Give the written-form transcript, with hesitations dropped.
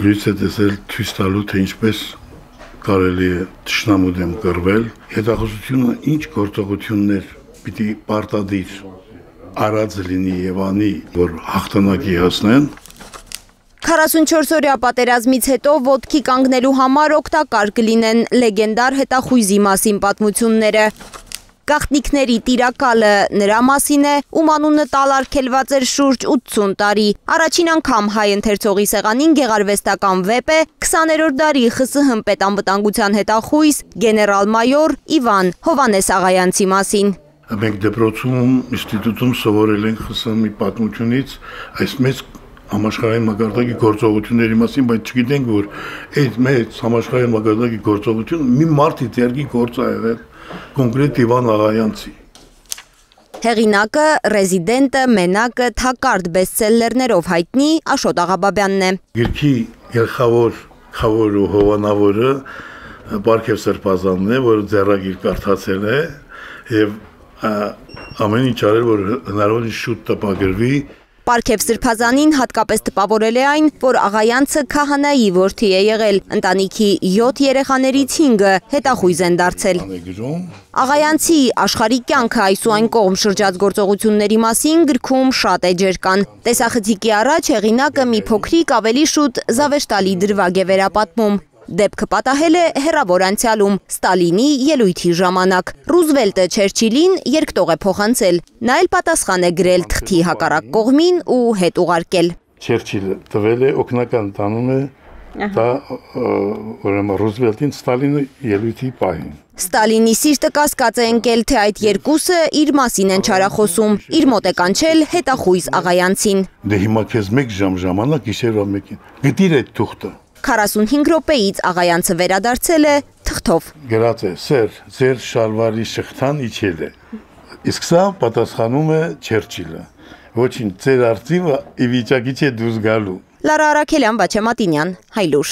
Լույս է տեսել ցույց տալու, թե ինչպես կարելի է թշնամու դեմ կռվել, հետախուզությունը ինչ գործողություններ պիտի պարտադիր արած լինի եւ անի, որ հաղթանակի հասնեն։ 44-օրյա պատերազմից հետո ոտքի կանգնելու համար օգտակար կլինեն լեգենդար հետախույզի մասին պատմությունները։ Գաղտնիքների տիրակալը նրա մասին է, ում անունը տալարգելված էր շուրջ 80 տարի։ Առաջին անգամ հայ ընթերցողի սեղանին գեղարվեստական վեպ է 20-րդ դարի ԽՍՀՄ պետանվտանգության հետախույզ գեներալ-մայոր Իվան Հովհաննես Աղայանցի մասին։ Մենք դպրոցում, ինստիտուտում սովորել ենք ԽՍՀՄ-ի պատմությունից այս մեծ համաշխարհային մակարդակի գործողությունների մասին, բայց չգիտենք, որ այդ մեծ համաշխարհային մակարդակի գործողությունը մի մարդի ձեռքի գործ է եղել, կոնկրետ Իվան Աղայանցի։ Հեղինակը, ռեզիդենտը, մենակը, թակարդ բեսթսելլերներով հայտնի Աշոտ Աղաբաբյանն է։ Գրքի գլխավոր ու հովանավորը Պարքև Սրբազանն է, որը ձեռագիր կարդացել է եւ ամեն ինչ արել, որ հնարավորինս շուտ տպագրվի։ Պարքև Սրբազանին հատկապես տպավորել է այն, որ Աղայանցը քահանայի որդի է եղել, ընտանիքի 7 երեխաներից 5-ը հետախույզ են դարձել։ Աղայանցի աշխարհի կյանքը այս ու այն կողմ շրջած գործողությունների մասին գրքում շատ էջեր կան։ Տեսախցիկի առաջ հեղինակը մի փոքրիկ ավելի շուտ զավեշտալի դրվագ է վերապատմում։ Դեպքը պատահել է հեռավոր անցյալում, Ստալինի ելույթի ժամանակ։ Ռուզվելտը Չերչիլին երկտող է փոխանցել, նա էլ պատասխան է գրել թղթի հակառակ կողմին ու հետ ուղարկել։ Չերչիլը տվել է օգնական տանում է դա ուրեմն Ռուզվելտին Ստալինի ելույթի պահին։ Ստալինի սիրտը կասկած է ընկել, թե այդ երկուսը իր մասին են չարախոսում, իր մոտ է կանչել հետախույզ Աղայանցին։ Դե հիմա քեզ 1 ժամ ժամանակ գիշերվա 1-ին։ Գտիր այդ թուղթը։ 45 րոպեից Աղայանցը վերադարձել է թղթով։ Գրած է. «Սեր, ձեր շալվարի շղթան իջել է»։ Իսկ սա պատասխանում է Չերչիլը. «Ոչինչ, ձեր արծիվը ի վիճակի չէ դուրս գալու»։ Լարա Արաքելյան, Վաչե Մատինյան, Հայլուր։